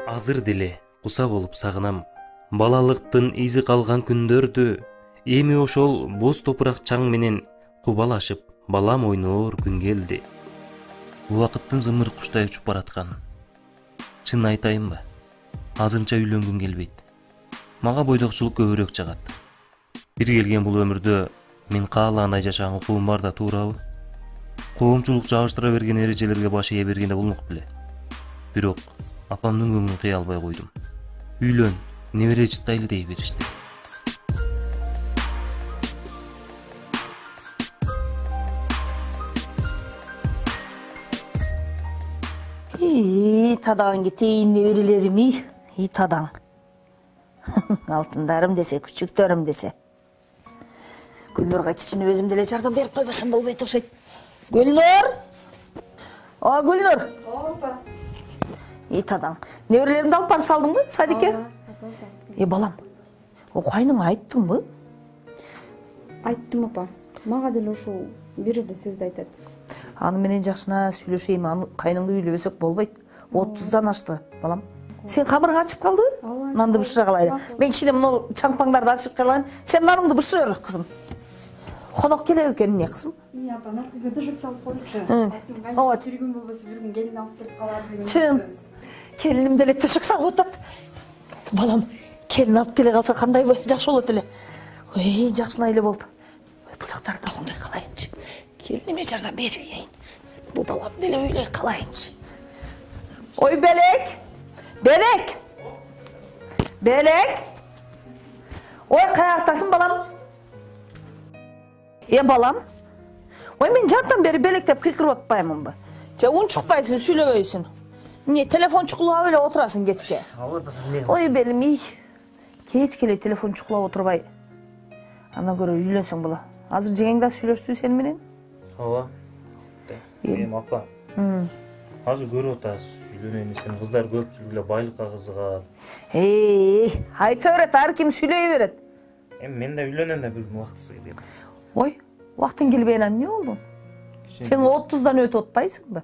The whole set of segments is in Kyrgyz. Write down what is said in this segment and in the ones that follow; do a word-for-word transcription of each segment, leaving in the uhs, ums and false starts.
Азыр деле куса болуп сагынам балалыктын изи калган күндөрдү. Эми ошол боз топурак чаң менен кубалашып балам ойноор күн келди. Убакыттын зымыр куштай учуп бараткан. Чын айтайынбы? Азырынча үйлөнгүм келбейт. Мага бойдокчулук көбүрөөк жагат. Бир келген бул өмүрдө мен каалаандай жашаган укугум бар да туурабы? Коомчулук жабыштыра берген эрежелерге баш ээ бергенде болмок беле. Бирок апамдын көңүлүн кыя албай койдум. Үйлөн, небере жыттайлы дей беришти. И тадаң кетейин неберелерими, и тадаң. Алтындарым десе, күчүктөрүм десе. Гүлнурга кичине өзүм деле жардам берип койбосом болбойт окшойт. Гүлнур! О, Гүлнур! Опа. И тадаң. Неберелеримди алып барып салдыңбы, садикке? Э, балам, о кайныңа айттыңбы? Айттым апа. Мага деле ушул бир эле сөздү айтат. Аны менен жакшына сүйлөшейм, аны кайныңды үйлөбөсөк болбойт. отуздан ашты, балам. Сен камырың ачып калды? Нанды бышыра калайлы. Мен кичине мына чаңпаңдарды ачып калайын. Сен наныңды бышыр, кызым. Конок келек экен эмне, кызым? И апа, наркыга дышык салып коючу. Ооба. Бир күн болбосо бир күн келин алып келип калар деген. Чын. Келиним деле төшөк салып атат. Балам, келин алып келе калса кандай жакшы болот эле. Ой, жакшына эле болду. Бул жактарды кандай кылайынчы? Келиниме жардам бербейин. Бул балам деле үйлөй калайынчы. Ой, Белек! Белек! Белек! Ой, каяктасың, балам? Е, балам? Ой, мен жантан бери белектеп кыйкырып атпаймынбы? Же унчукпайсың, сүйлөбөйсүн. Не, телефон чукулап эле отурасың кечке. Ой, белим, ий. Кечке эле телефон чукулап отурбай. Андан көрө үйлөнсөң боло. Азыр жеңең да сүйлөштү сени менен? Ооба. Эм апа. Азыр көрүп атасыз. Үйлөнөйүн десем кыздар көпчүлүгү эле байлыкка кызыгат. Эй, айта берет, ар ким сүйлөй берет. Эми мен да үйлөнөм да бир күн убактысы келет. Ой, убактың келбеген эмне болду? Сен отуздан өтүп атпайсыңбы?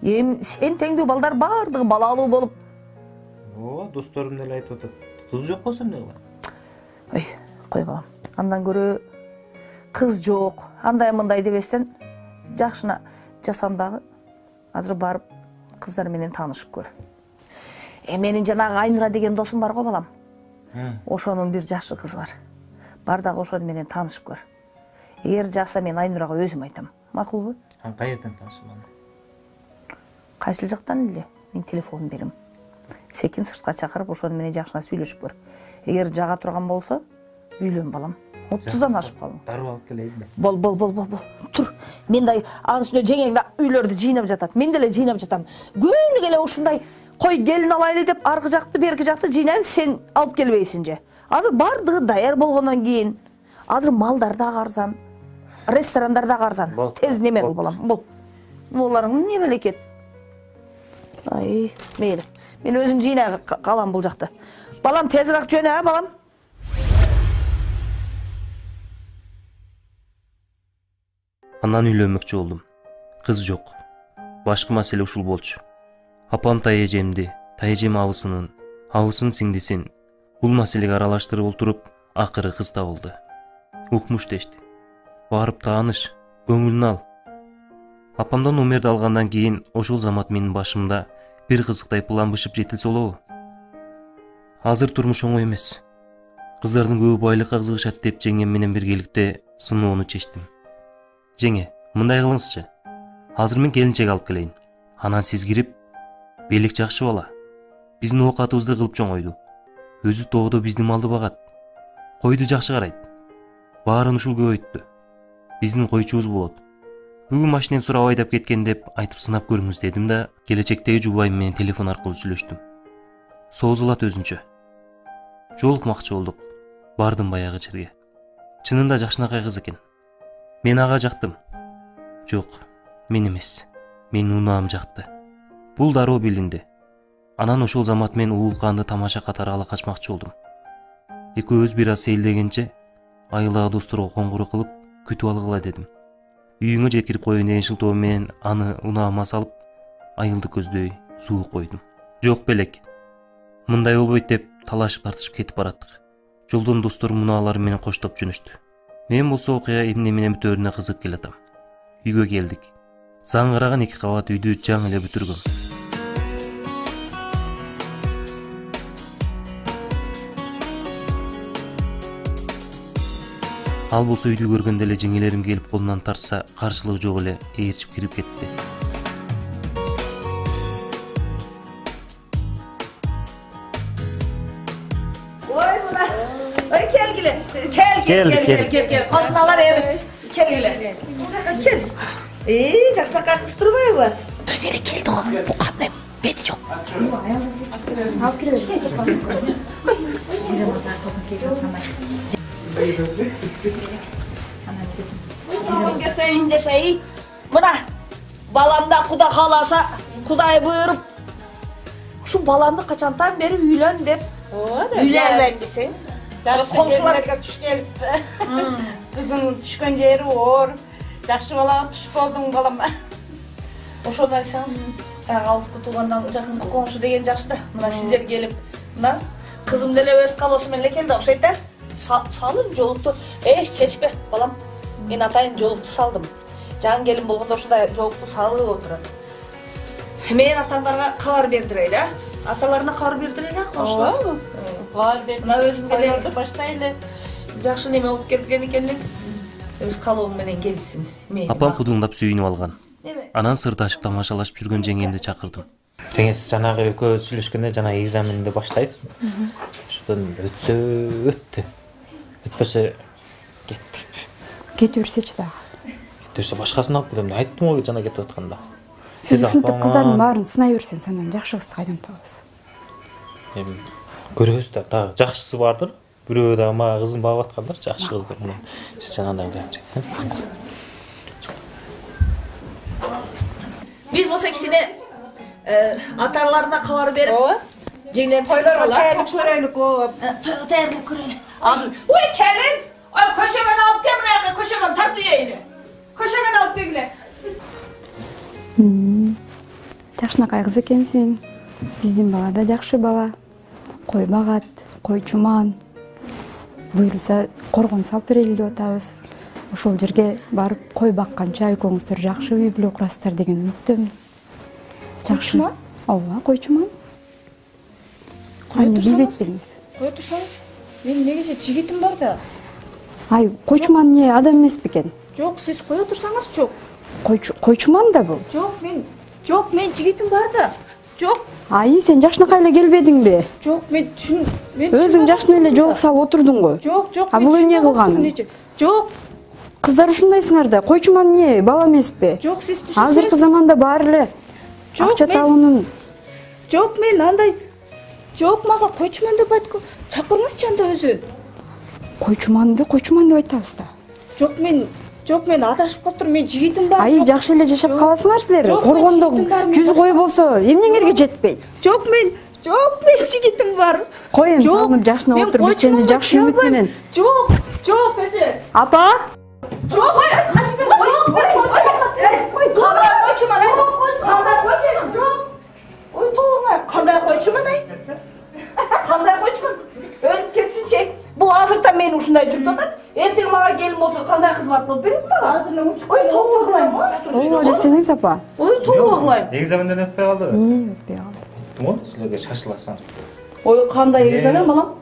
Эми сен теңдүү балдар бардыгы балалуу болуп. Ооба, досторум деле айтып атат. Кыз жок болсо эмне кылам? Ой, кой балам. Андан көрө кыз жок, андай мындай дебестен жакшына жасам дагы. Азыр барып кыздар менен таанышып көр. Э, менин жанагы Айнура деген досум бар го, балам. Ошонун бир жакшы кызы бар. Бар дагы ошону менен таанышып көр. Эгер жакса мен Айнурага өзүм айтам. Макулбу? Ан каерден таанышам? Кайсыл жактан эле? Мен телефон берем. Секин сыртка чакырып ошону менен жакшына сүйлөшүп көр. Эгер жага турган болсо, үйлөн, балам. отуздан ашып калдың. Дароо алып келейинби? Бол, бол, бол, бол, бол. Тур. Мен да анын үстүнө жеңең да үйлөрдү жыйнап жатат. Мен деле жыйнап жатам. Күнүгө эле ушундай кой келин алайлы деп аркы жакты, берки жакты жыйнайбыз, сен алып келбейсиң же. Азыр бардыгы даяр болгондон кийин, азыр малдар да арзан, ресторандар да арзан. Тез неме кыл, балам. Бол. Буларың не белекет? Ай, мейли. Мен өзүм жыйнай калам бул жакта. Балам, тезирээк жөнө, а, балам? Андан үйлөнмөкчү болдум. Кыз жок. Башкы маселе ушул болчу. Апам тайэжемди, тайэжем абысынын, абысын сиңдисин бул маселеге аралаштырып олтуруп, акыры кыз табылды. Укмуш дешти. Барып тааныш, көңүлүн ал. Апамдан номерди алгандан кийин ошол замат менин башымда бир кызыктай план бышып жетилсе болобу? Азыр турмуш оңой эмес. Кыздардын көбү байлыкка кызыгышат деп жеңем менен биргеликте сыноону чечтим. Жеңе, мындай кылыңызчы. Азыр мен келинчек алып келейин. Анан сиз кирип, Белек жакшы бала. Биздин оокатыбызды кылып чоңойду. Өзү тоодо биздин малды багат. Койду жакшы карайт. Баарын ушул көбөйттү. Биздин койчубуз болот. Бүгүн машинени сурап айдап кеткен деп айтып сынап көрүңүз дедим да, келечектеги жубайым менен телефон аркылуу сүйлөштүм. Соозулат өзүнчө. Жолукмакчы болдук. Бардым баягы жерге. Чынында жакшынакай кыз экен. Мен ага жактым. Жок, мен эмес. Менин унаам жакты. Бул дароо билинди. Анан ошол замат мен уулканды тамаша катары ала качмакчы болдум. Экөөбүз бир аз сейилдегенче айылдагы досторго коңгуроо кылып күтүп алгыла дедим. Үйүңө жеткирип коеюн деген шылтоо менен аны унаама салып, айылды көздөй суу койдум. Жок белек. Мындай болбойт деп талашып тартышып кетип бараттык. Жолдон достор муналары менен коштоп жөнөштү. Мен болсо окуя эмне менен бүтөөрүнө кызыгып келатам. Үйгө келдик. Заңгыраган эки кабат үйдү жаңы эле бүтүргөм. Ал болсо үйдү көргөндө эле жеңелерим келип колунан тартса, каршылыгы жок эле ээрчип кирип кетти. Ой мына. Ой келгиле. Кел кел кел кел кел. Кошуналар эми. Келгиле. Кел. Э, жакшыраак кыстырбайбы? Өзү эле келди го. Бу кандай бети жок. Алып кире. Кетейин десей, мына баламда Куда кааласа, Кудай буйруп, ушу баламды качантан бери үйлөн деп үйлөнбөйм десеңиз. Комшуларга туш келипти. Кыздын түшкөн жери оор. Жакшы балага туш болдуң балам. Ошону айтсаңыз, алыскы туугандан жакынкы комшу деген жакшы да. Мына сиздер келип, мына кызым деле өз калоосу менен эле келди окшойт да. Салым жолукту. Эч чечпе, балам. Мен атайын жолукту салдым. Жаңы келин болгондо ушундай жолукту салып отурат. Мен атаңдарга кабар бердирейли, а? Аталарына кабар бердирейли, комшулар. Бар деп. Мына өзүм деле баштайлы. жакшы неме болуп келген экен. Өз калоом менен келсин. Апам кудуңдап сүйүнүп алган. Анан сырдашып тамашалашып жүргөн жеңемди чакырдым. Жеңес жанагы экөө сүйлөшкөндө жана экзаменди баштайсыз. Ошодон өтсө өттү. Өтпөсө кетти. Кете берсечи дагы. Кетсе башкасын алып кетем. Айттым го жана кетип атканда. Сиз ушинтип кыздардын баарын сынай берсең, сенен жакшы кызды кайдан табасыз? Эми көрөбүз да, дагы жакшысы бардыр. Бирөө да мага кызын багып аткандар, жакшы кыздар. Сиз жанагындай кылып. Биз болсо кичине аталарына кабар берип, жеңлерин чакырып алалы. Тайылып көрөлүк го. Тойго тайылып көрөлү. Азыр, ой келин, ой көшөгөн алып кел мына жака, көшөгөн тартып ийели. Көшөгөн алып келгиле. Жакшынакай кыз экенсиң. Биздин бала да жакшы бала. Кой багат, койчуман. Буйруса коргон салып берели деп атабыз. Ошол жерге барып кой бакканча экөөңүздөр жакшы үй бүлө курасыздар деген үмүттөмүн. Койчуман? Ооба, койчуман. Кайны билбейт белиңиз? Кое турсаңыз, мен негизи жигитим бар да. Ай, койчуман эмне адам эмес бекен? Жок, сиз кое турсаңыз жок. Койчуман да бул. Жок, мен жок, мен жигитим бар да. Жок. Ай, сен жакшынакай эле келбедиңби? Жок, мен түшүн, мен Өзүң жакшына эле жолук салып отурдуң го. Жок, жок. А бул эмне кылган? Жок. Кыздар ушундайсыңар да, койчуман эмне, бала эмеспи? Жок, сиз түшүнсөңүз. Азыркы заманда баары эле акча табуунун. Жок, мен андай жок, мага койчуман деп айткан. Чакырыңызчы анда өзүн. Койчуманды койчуман деп айтабыз да. Жок, мен жок, мен адашып калыптырмын. Мен жигитим бар. Ай, жакшы эле жашап каласыңар силер. Жок, Коргондо мен жигитим бар, жүз кой болсо эмнеңерге жетпейт. Жок, мен жок, мен жигитим бар. Кой эми салынып жакшына отуруп, биз сени жакшы үмүт менен. Жок, жок, эже. Апа? Жок, качып кет. Жок, кандай койчуман? Кандай койчуман? Жок. Ой, тоңа, кандай койчуман ай? Кандай койчуман? Өлүп кетсинчи. Бул азырта мени ушундай жүрүп атат. Эртең мага келин болсо кандай кызмат кылып берет мага? Азыр эле учуп Ой, тоого кылайм. Ооба десеңиз, апа. Ой, тоого кылайм. Экзаменден өтпөй калдыбы? Өтпөй калды. Тумон силерге шашыласың. Ой, кандай экзамен балам?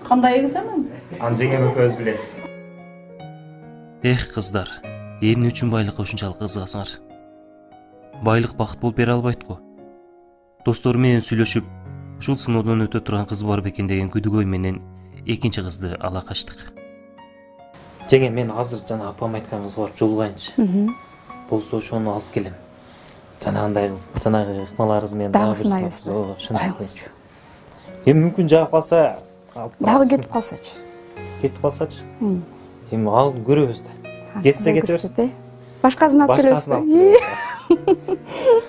Кандай экзамен? Аны жеңем экөөбүз билебиз. Эх, кыздар, эмне үчүн байлыкка ушунчалык кызыгасыңар? Байлык бакыт болуп бере албайт го. Достору менен сүйлөшүп, ушул сыноодон өтө турган кыз бар бекен деген күдүгөй менен экинчи кызды ала качтык. Жеңем, мен азыр жана апам айткан кызга барып жолугайынчы. Болсо ошону алып келем. Жанагындай кылып, жанагы ыкмаларыбыз менен дагы сынайбыз. Ооба, Коюңузчу. Эми мүмкүн жагып калса, алып Дагы кетип калсачы. Кетип калсачы? Эми ал көрөбүз да. Кетсе кете берсин. Башкасын алып келесиз. Башкасын алып келебиз.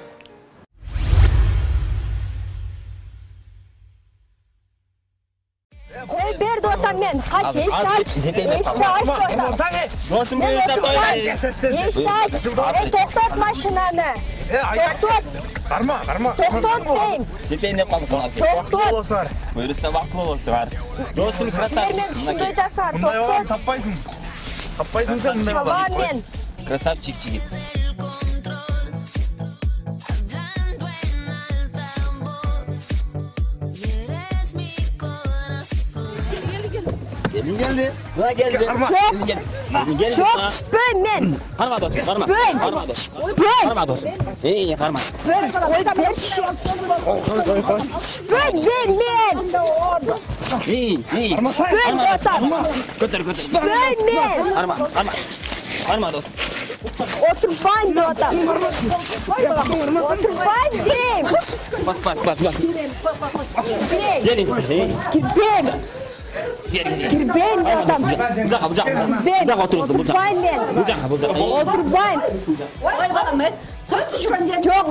Кой бер деп атам мен. Kaç, eşit aç. Eşit aç atam. Досым буюрса той. Eşit aç. E toktot maşinanı. Toktot. Карма, карма. Toktot deyim. Жетейин деп калдык калат. Toktot. Буюрса вакытлуу болсо бар. Досум красавчик. Мен düşünдөй да сар. Мындай баланы Toktot. таппайсың. Таппайсың сен мындай баланы. Çaban men. Красавчик жигит. Gelin geldi. Buna geldi. Çok. Gelin geldi. Çok süpön men. Karma dostum, karma. Süpön. Karma dostum. Süpön. Karma dostum. İyi, karma. Süpön. Süpön deyim men. İyi, iyi. Süpön atam. Götür, götür. Süpön men. Karma, karma. Karma dostum. Oturmayın bu atam. Oturmayın deyim. Bas, bas, bas, bas. Deyim. Gelin size. İyi. Kirpem. Gelin, gelin. Kirpem bu atam. Bucak, bucak. Ben. Bucak oturursun, bucak. Oturmayın men. Bucak, bucak. İyi. Oturmayın. Oy balam ben. Kız düşüren Çok.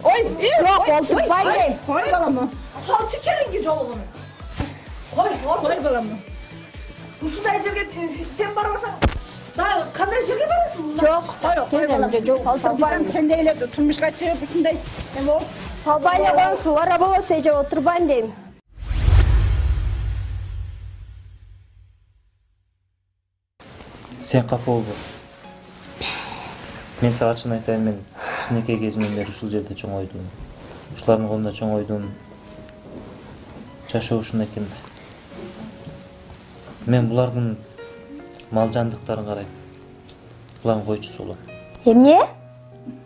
Oy. Çok oturmayın deyim. Oy balam. Sol çıkarın ki yolunu. Oy, oy balam. Ушундай жерге сен барбасаң, да кандай жерге барасың? Çok. Kendimce çok oturmayın. Sen de эле турмушка чыгып ушундай эме болуп Salbayla koyun suvara bolsa ece oturmayın deyim. Sen капа болбо. Мен сага чын айтайын, мен кичинекей кезимден бери ушул жерде чоңойдум. Ушулардын колунда чоңойдум. Жашоо ушундай экен да. Мен булардын мал жандыктарын карайм. Булардын койчусу болом. Emne?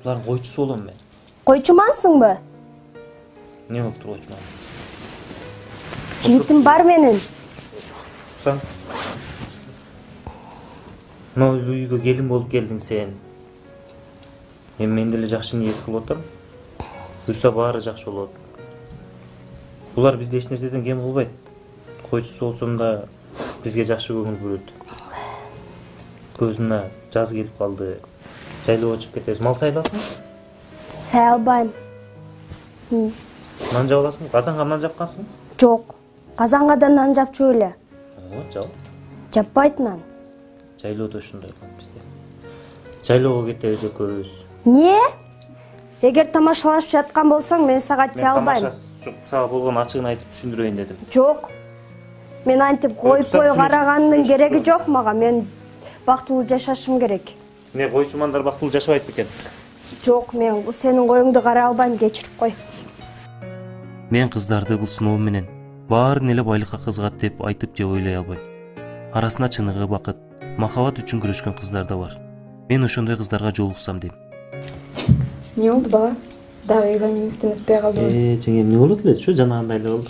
Булардын койчусу болом мен. Koyçumansın mı? Не болуп туруп койчуман? Çiğitim var benim. Sen Мына үйгө келин болуп келдиң сен. Эми мен деле жакшы ниет кылып отурум. Буюрса баары жакшы болот. Булар бизде эч нерседен кем кылбайт. Койчусу болсом да бизге жакшы көңүл бөлөт. Көзүнө жаз келип калды. Жайлоого чыгып кетебиз. Мал сайласың? Say albayım. Нан жаап аласың? Казанга нан жапкансың? Çok. Kazanğa da nan japçı öyle. Ооба, жап. Japbayt nan. Жайлоодо ошондой кылат бизде. Жайлоого кетебиз экөөбүз. Niye? Eğer tamaşalaşıp жаткан bolsaң, men sağa тие албайм. Жок, сага болгон ачыгын айтып түшүндүрөйүн дедим. Çok. Men antip koyup Tutsam koy süreç- karaganın süreç gereki tutuyorum. yok maga. Men baktulu yaşaşım gerek. Не, койчумандар бактылуу жашабайт бекен. Çok, men bu senin koyuңdu kara albayım, geçirip koy. Мен кыздарды бул сыноо менен баарын эле байлыкка кызыгат деп айтып же ойлой албайм. Арасында чыныгы бакыт, махабат үчүн күрөшкөн кыздар да бар. Мен ошондой кыздарга жолуксам дейм. Не oldu bala? Дагы экзаменистен өтпөй калдыбы? Э, жеңем, эмне болот эле? Ушу жанагындай эле болду.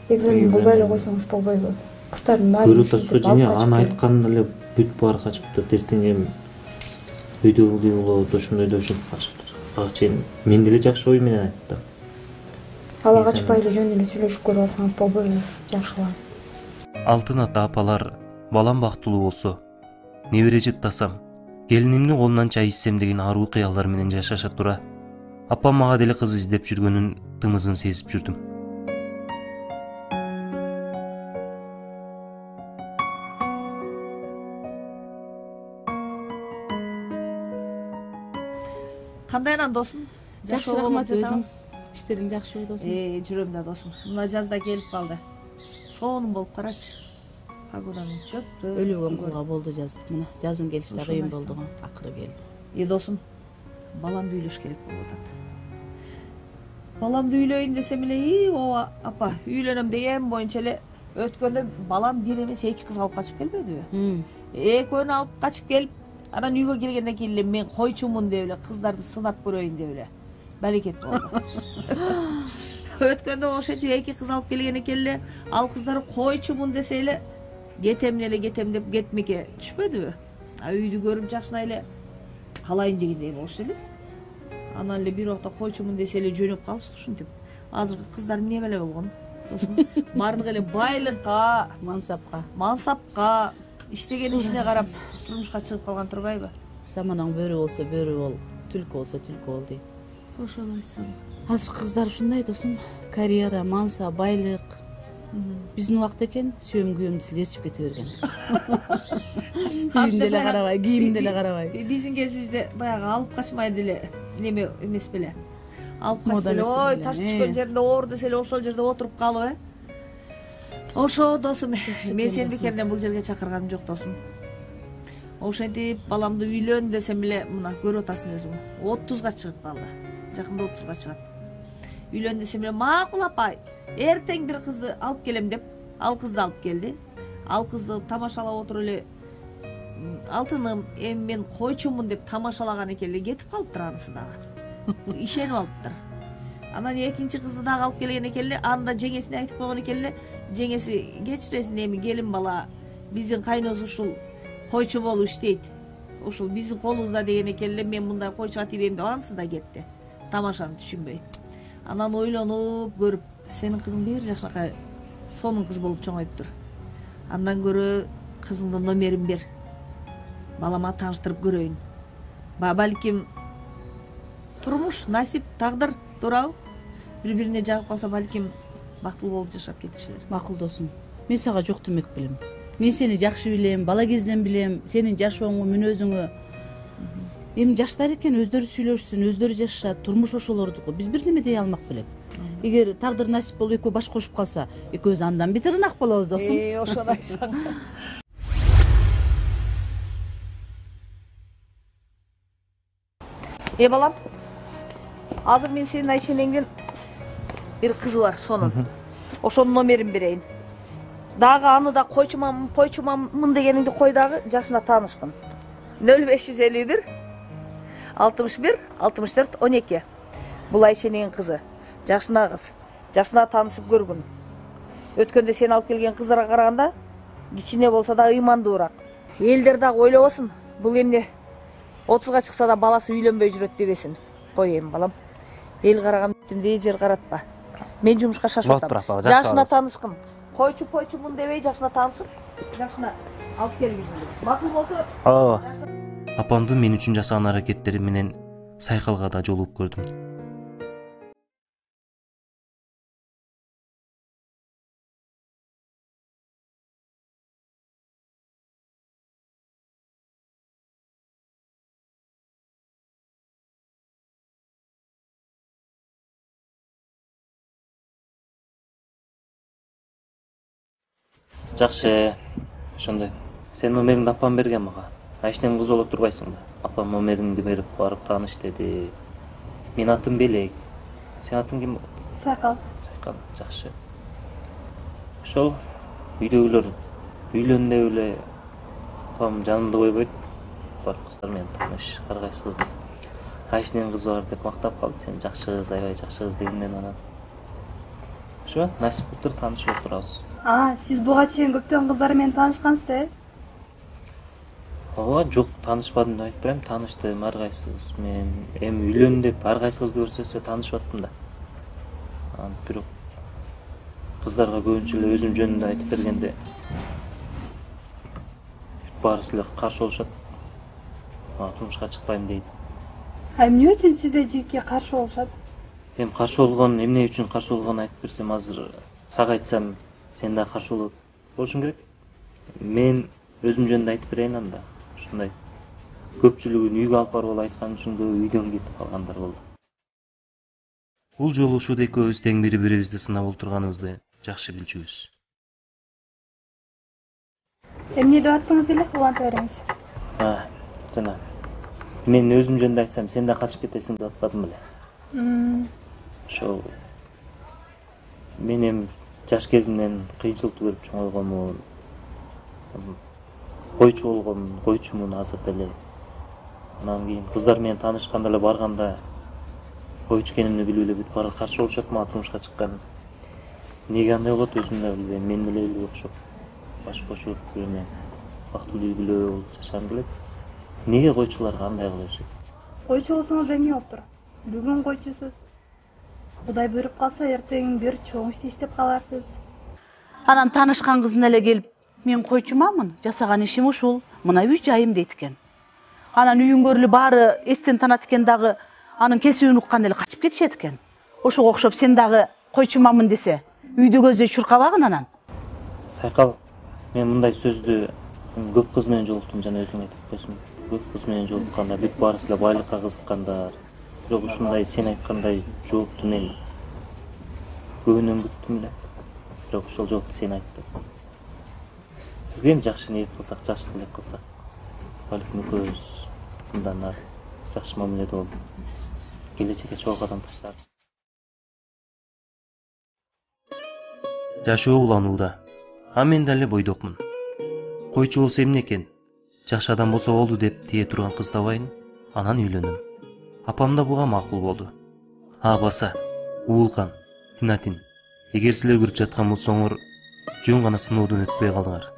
Экзамен кылбай эле койсоңуз болбойбу? Кыздардын баары Көрүп ушинтип атасыз, алып жеңе, качып аны келет. айткан эле бүт баары качып кетет. Эртең эми үйдө ылдый болот, ошондой да ушинтип качып кетет. Ага чейин мен деле жакшы ой менен айттым. Ала качпай эле жөн эле сүйлөшүп көрүп алсаңыз болбойбу? Жакшылап. Алтын ата апалар, балам бактылуу болсо, небере жыттасам, келинимдин колунан чай ичсем деген аруу кыялдар менен жашаша тура, апам мага деле кыз издеп жүргөнүн тымызын сезип жүрдүм. кандайынан досум? Жакшы рахмат өзүң. Иштериң жакшыбы досум? Э, жүрөм да досум. Мына жазда келип калды. Сонун болуп карачы. Погоданын чөптү. Өлүгөн кулга болду жаз. Мына жазын келиш да кыйын болду го, акыры келди. Е досум, баламды үйлөш керек болуп атат. Баламды үйлөйүн десем эле, и ооба апа, үйлөнөм деген боюнча эле өткөндө балам бир эмес эки кыз алып качып келбедиби? Экөөнү алып качып келип, анан үйгө келгенден кийин эле мен койчумун деп эле кыздарды сынап көрөйүн деп эле балекет болду. Өткөндө ошентип эки кыз алып келген экен эле, ал кыздар койчумун десе эле кетем эле кетем деп кетмекке түшпөдүбү? А үйдү көрүп жакшынай эле калайын дегендей болушту эле. Анан эле бир убакта койчумун десе эле жөнөп калышты ушинтип. Азыркы кыздар эмне беле болгон? Баардыгы эле байлыкка, Мансапка. мансапка, иштеген ишине карап турмушка чыгып калган турбайбы? Саманаң бөрү болсо бөрү бол, түлкү болсо түлкү бол дейт. Ошону айтсам. Азыр кыздар ушундай досум. Карьера, манса, байлык. Биздин убакта экен сүйөм күйөөмдү силерчип кете берген. Үйүм деле карабай, кийим деле карабай. Биздин кезибизде баягы алып качмай деле неме эмес беле. Алып качса Мода эле, эмес ой, беле, таш э. түшкөн жеринде оор десе эле ошол жерде отуруп калып, э. Ошо досум, мен сени бекеринен бул жерге чакырганым жок досум. Ошентип баламды үйлөн десем эле мына көрүп атасың өзүң. отузга чыгып калды. Жакында отузга чыгат. Үйлөн десем эле макул апа, эртең бир кызды алып келем деп, ал кызды алып келди. Ал кызды тамашалап отуруп эле алтыным, эми мен койчумун деп тамашалаган экен эле кетип калыптыр анысы дагы. Ишенип алыптыр. Анан экинчи кызды дагы алып келген экен эле, анда жеңесине айтып койгон экен эле, жеңеси кечиресиң эми келин бала, биздин кайносу ушул койчу болуп иштейт. Ушул биздин колубузда деген экен эле, мен мындай койчуга тийбейм деп анысы да кетти. Тамашаны түшүнбөй. Анан ойлонуп көрүп, сенин кызың бир жакшынакай сонун кыз болуп чоңоюптур. Андан көрө кызыңдын номерин бер. Балама тааныштырып көрөйүн. Ба балким турмуш, насип, тагдыр туурабы? Бири-бирине жагып калса балким бактылуу болуп жашап кетишер. Макул досум. Мен сага жок демек билем. Мен сени жакшы билем, бала кезинен билем, сенин жашооңу, мүнөзүңү. Эми жаштар экен, өздөрү сүйлөшсүн, өздөрү жашашат, турмуш ошолордуку. Биз бир неме дей алмак белек. Эгер тагдыр насип болуп экөө баш кошуп калса, экөөбүз андан бетер ынак болобуз досум. Э, ошону айтсаң. Э балам, азыр мен сенин Айшенеңдин бир кызы бар, сонун. Ошонун номерин берейин. Дагы аны да койчумамын, койчумамын дегениңди кой дагы, жашына таанышкын. нөл беш жүз элүү бир алтымыш бир алтымыш төрт он эки. Бул Айшенеңдин кызы. Жакшына кыз. Жакшына таанышып көргүн. Өткөндө сен алып келген кыздарга караганда кичине болсо да ыймандуураак. Элдер дагы ойлобосун. Бул эмне отузга чыкса да баласы үйлөнбөй жүрөт дебесин. Кой эми балам. Эл караган бетимди жер каратпа. Мен жумушка шашып атам. Жакшына таанышкын. Койчу койчумун дебей жакшына таанышып, жакшына алып келгин. Макул болсо. Ооба. Апамдын мен үчүн жасаган аракеттери менен сайкалга да жолугуп көрдүм. Жакшы, ошондой. Сен номериңди апам берген мага. Айшенең кызы болуп турбайсың да. Апам номериңди берип барып тааныш деди. Мен атым Белек. Сен атың ким? Сайкал. Сайкал, жакшы. Ошол үйдөгүлөр үйлөн деп эле апам жанымда койбойт. Бар кыздар менен тааныш, ар кайсы кызды. Айшенең кызы бар деп мактап калды. Сен жакшы кыз, аябай жакшы кыз дегенден анан. Ошо, насип кылыптыр таанышып отурабыз. А, сиз буга чейин көптөгөн кыздар менен таанышкансыз, э? Ооба, жок, таанышпадым деп айтпайм, тааныштым ар кайсы кыз менен. Эми үйлөн деп ар кайсы кызды көрсөтсө таанышып аттым да. Анан бирок кыздарга көбүнчө эле өзүм жөнүндө айтып бергенде баарысы эле каршы болушат. Мага турмушка чыкпайм дейт. А эмне үчүн сизде жигитке каршы болушат? Эми каршы болгон, эмне үчүн каршы болгонун айтып берсем, азыр сага айтсам сен да каршы болот болушуң керек. Мен өзүм жөнүндө айтып берейин анда. Ушундай көпчүлүгүн үйгө алып барып айткан үчүн көбү үйдөн кетип калгандар болду. Бул жолу ушул экөөбүз тең бири-бирибизди сынап отурганыбызды жакшы билчүбүз. Эмне деп аттыңыз эле, уланта бериңиз. А, жана мен өзүм жөнүндө айтсам сен да качып кетесиң деп атпадым беле. Ошол мен эми жаш кезимден кыйынчылыкты көрүп чоңойгонмун. Койчу болгомун, койчумун азыр деле. Анан кийин кыздар менен таанышканда эле барганда койчу экенимди билип эле бүт баары каршы болушат мага турмушка чыккан. Неге андай болот өзүм да билбейм, мен деле эле окшоп баш кошуп эме бактылуу үй-бүлө болуп жашагым келет. Неге койчуларга андай кыла беришет? Койчу болсоңуз эмне болуптур? Бүгүн койчусуз. Кудай буйруп калса эртең бир чоң ишти иштеп каларсыз. Анан таанышкан кыздын эле келип, мен койчумамын, жасаган ишим ушул, мына үй жайым дейт экен. Анан үйүнгө эле баары эстен танат экен дагы, анын кесибин уккан эле качып кетишет экен. Ошого окшоп сен дагы койчумамын десе, үйдө көздөй чуркабагын анан. Сайкал, мен мындай сөздү көп кыз менен жолуктум, жана өзүң айтып койсуң. Көп кыз менен жолукканда бүт баарысы эле байлыкка кызыккандар. Бирок ушундай сен айткандай жоопту мен көбүнөн күттүм эле. Бирок ошол жоопту сен айттың. Билбейм, жакшы ниет кылсак, жакшы тилек кылсак, балким экөөбүз мындан ары жакшы мамиледе болуп келечекке чогуу кадам таштарбыз. Жашоо уланууда. А мен деле бойдокмун. Койчу болсо эмне экен? Жакшы адам болсо болду деп тие турган кыз табайын, анан үйлөнөм. Апам да буга макул болду. А баса, Уулкан, Тинатин, эгер силер көрүп жаткан болсоңор, жөн гана сыноодон өтпөй калдыңар.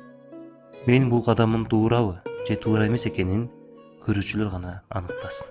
Менин бул кадамым туурабы же туура эмес экенин көрүүчүлөр гана аныктасын.